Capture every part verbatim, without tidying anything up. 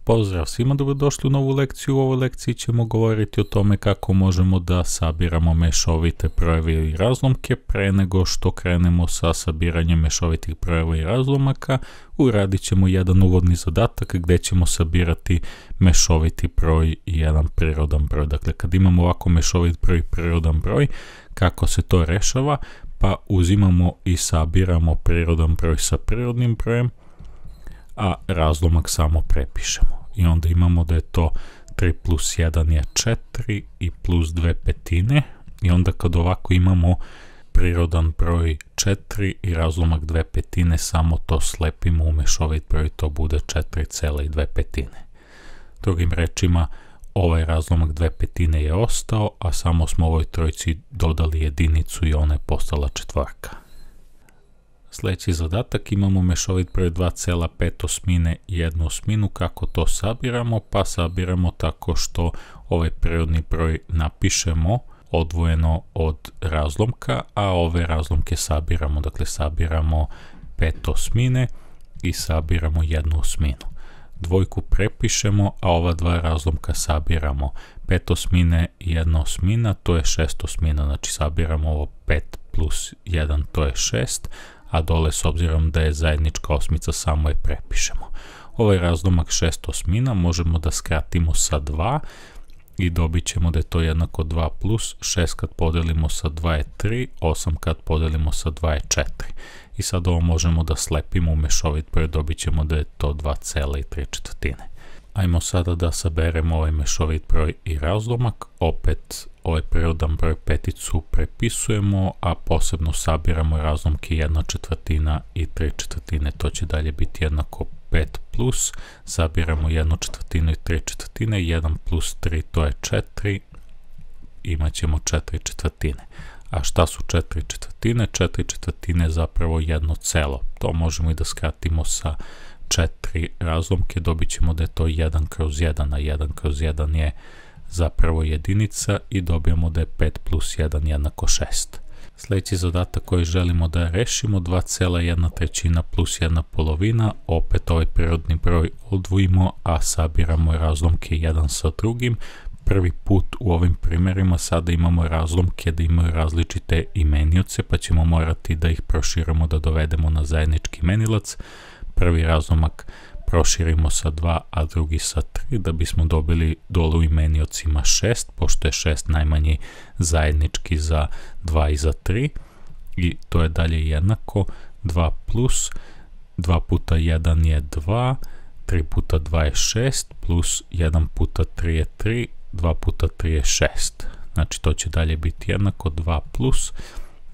Pozdrav svima, dobrodošli u novu lekciju. U ovoj lekciji ćemo govoriti o tome kako možemo da sabiramo mešovite brojeve i razlomke. Pre nego što krenemo sa sabiranjem mešovitih brojeva i razlomaka, uradit ćemo jedan uvodni zadatak gdje ćemo sabirati mešoviti broj i jedan prirodan broj. Dakle, kad imamo ovako mešovit broj i prirodan broj, kako se to rešava? Pa uzimamo i sabiramo prirodan broj sa prirodnim brojem, a razlomak samo prepišemo. I onda imamo da je to tri plus jedan je četiri i plus dve petine. I onda kad ovako imamo prirodan broj četiri i razlomak dve petine, samo to slepimo u mešovit broj, to bude četiri zarez dve petine. Drugim rečima, ovaj razlomak dve petine je ostao, a samo smo ovoj trojci dodali jedinicu i ona je postala četvorka. Sljedeći zadatak, imamo mešovit broj dva zarez pet osmine i jednu osminu. Kako to sabiramo? Pa sabiramo tako što ovaj prirodni broj napišemo odvojeno od razlomka, a ove razlomke sabiramo. Dakle, sabiramo pet osmine i sabiramo jednu osminu. Dvojku prepišemo, a ova dva razlomka sabiramo. pet osmine i jedna osmina, to je šest osmina. Znači, sabiramo ovo pet plus jedan, to je šest, a dole, s obzirom da je zajednička osmica, samo je prepišemo. Ovaj razlomak šest osmina možemo da skratimo sa dva i dobit ćemo da je to jednako dva plus šest kad podelimo sa dva je tri, osam kad podelimo sa dva je četiri. I sad ovo možemo da slepimo u mešovit broj, dobit ćemo da je to dva zarez tri četvrtine. Ajmo sada da saberemo ovaj mešovit broj i razlomak. Opet ovaj prirodan broj peticu prepisujemo, a posebno sabiramo razlomke jedna četvrtina i tri četvrtine. To će dalje biti jednako pet plus, sabiramo jednu četvrtinu i tri četvrtine, jedan plus tri to je četiri, imat ćemo četiri četvrtine. A šta su četiri četvrtine? četiri četvrtine je zapravo jedno celo. To možemo i da skratimo sa četiri razlomke, dobit ćemo da je to jedan kroz jedan, a jedan kroz jedan je zapravo jedinica i dobijemo da je pet plus jedan jednako šest. Sljedeći zadatak koji želimo da rešimo, dva zarez jedna trećina plus jedna polovina, opet ovaj prirodni broj odvojimo, a sabiramo razlomke jedan sa drugim. Prvi put u ovim primjerima sada imamo razlomke da imaju različite imenioce, pa ćemo morati da ih proširimo, da dovedemo na zajednički imenilac. Prvi razlomak proširimo sa dva, a drugi sa tri, da bismo dobili dole u imeniocima šest, pošto je šest najmanji zajednički za dva i za tri. I to je dalje jednako dva plus dva puta jedan je dva, tri puta dva je šest, plus jedan puta tri je tri, dva puta tri je šest. Znači to će dalje biti jednako dva plus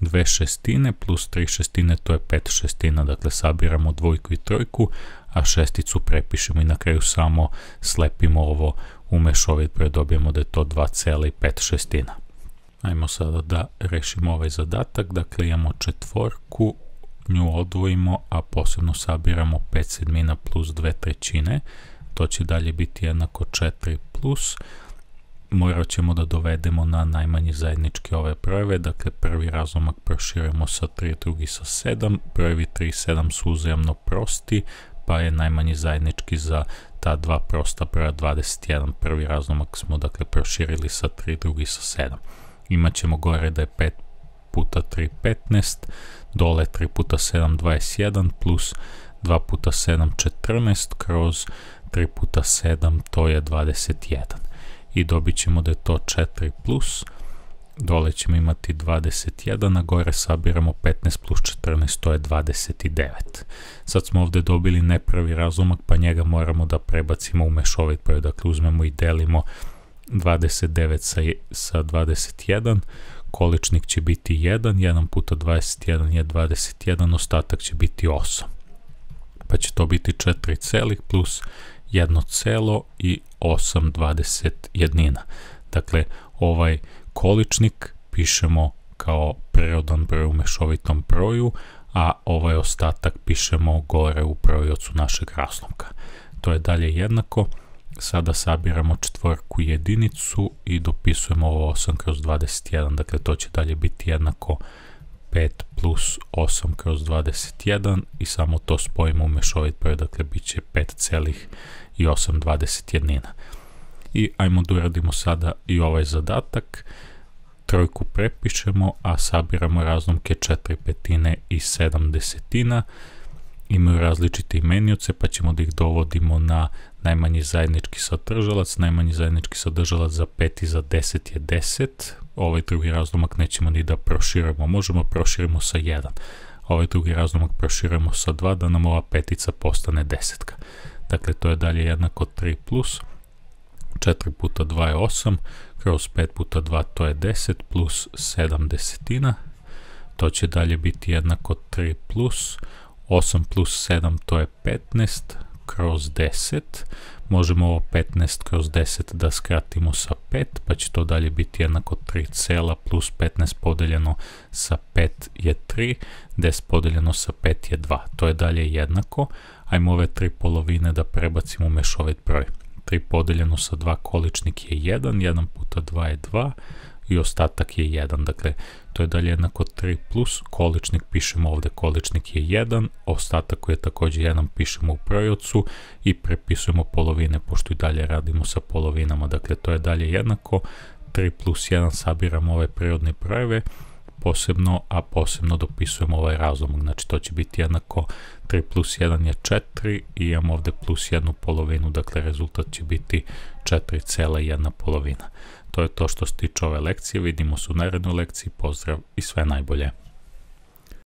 dve šestine plus tri šestine, to je pet šestina. Dakle, sabiramo dvojku i trojku, a šesticu prepišemo i na kraju samo slepimo ovo u mešovit broj, dobijemo da je to dva zarez pet šestina. Ajmo sada da rešimo ovaj zadatak. Dakle, imamo četvorku, nju odvojimo, a posebno sabiramo pet sedmina plus dve trećine. To će dalje biti jednako četiri plus. Morat ćemo da dovedemo na najmanji zajednički ove brojeve. Dakle, prvi razlomak proširujemo sa tri, drugi sa sedam. Brojevi tri i sedam su uzajamno prosti, pa je najmanji zajednički za ta dva prosta broja dvadeset jedan. Prvi razlomak smo dakle proširili sa tri, drugi sa sedam. Imaćemo gore da je pet puta tri petnaest, dole tri puta sedam dvadeset jedan, plus dva puta sedam četrnaest, kroz tri puta sedam to je dvadeset jedan. I dobit ćemo da je to četiri plus, dole ćemo imati dvadeset jedan, a gore sabiramo petnaest plus četrnaest, to je dvadeset devet. Sad smo ovdje dobili nepravi razlomak, pa njega moramo da prebacimo u mešovit broj. Dakle, uzmemo i delimo dvadeset devet sa, sa dvadeset jedan, količnik će biti jedan, jedan puta dvadeset jedan je dvadeset jedan, ostatak će biti osam. Pa će to biti četiri celih plus jedno celo i osam dvadeset jednina. Dakle, ovaj količnik pišemo kao prirodan broj u mešovitom broju, a ovaj ostatak pišemo gore u brojiocu našeg razlomka. To je dalje jednako. Sada sabiramo četvorku i jedinicu i dopisujemo ovo osam kroz dvadeset jedan. Dakle, to će dalje biti jednako pet plus osam kroz dvadeset jedan i samo to spojimo u mešovit broj, dakle bit će pet zarez i osam dvadesetjednina. I ajmo da uradimo sada i ovaj zadatak. Trojku prepišemo, a sabiramo razlomke četiri petine i sedam desetina. Imaju različite imenioce, pa ćemo da ih dovodimo na najmanji zajednički sadržalac. Najmanji zajednički sadržalac za pet i za deset je deset. Ovaj drugi razlomak nećemo ni da proširimo. Možemo proširimo sa jedan. Ovaj drugi razlomak proširujemo sa dva, da nam ova petica postane desetka. Dakle, to je dalje jednako tri plus četiri puta dva je osam, kroz pet puta dva to je deset, plus sedam desetina. To će dalje biti jednako tri plus osam plus sedam, to je petnaest, kroz deset. Možemo ovo petnaest kroz deset da skratimo sa pet, pa će to dalje biti jednako tri cela plus petnaest podeljeno sa pet je tri, deset podeljeno sa pet je dva. To je dalje jednako. Ajmo ove tri polovine da prebacimo u mešovit broj. tri podeljeno sa dva, količnik je jedan, jedan puta dva je dva i ostatak je jedan. Dakle, to je dalje jednako tri plus, količnik pišemo ovde, količnik je jedan, ostatak koji je također jedan pišemo u brojevcu i prepisujemo polovine, pošto i dalje radimo sa polovinama. Dakle, to je dalje jednako tri plus jedan, sabiramo ove prirodne brojeve posebno, a posebno dopisujemo ovaj razlomak. Znači, to će biti jednako tri plus jedan je četiri i imamo ovde plus jednu polovinu, dakle rezultat će biti četiri cela jedna polovina. To je to što se tiče ove lekcije, vidimo se u narednoj lekciji, pozdrav i sve najbolje.